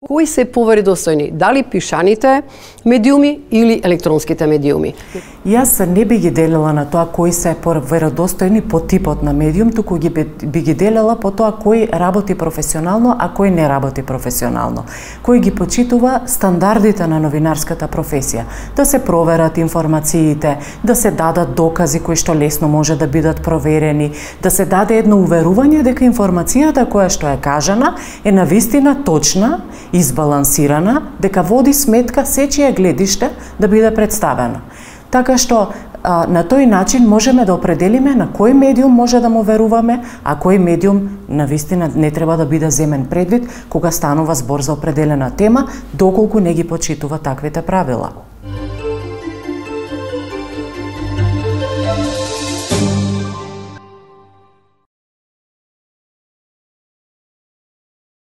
Кои се поверодостојни? Дали пишаните медиуми или електронските медиуми? Јас не би ги делила на тоа кои се поверодостојни по типот на медиум, туку би ги делила по тоа кој работи професионално, а кој не работи професионално. Кој ги почитува стандардите на новинарската професија, да се проверат информациите, да се дадат докази кои што лесно може да бидат проверени, да се даде едно уверување дека информацијата која што е кажана е навистина точна, избалансирана, дека води сметка сечие гледиште да биде представена. Така што на тој начин можеме да определиме на кој медиум може да му веруваме, а кој медиум навистина не треба да биде земен предвид кога станува збор за определена тема, доколку не ги почитува таквите правила.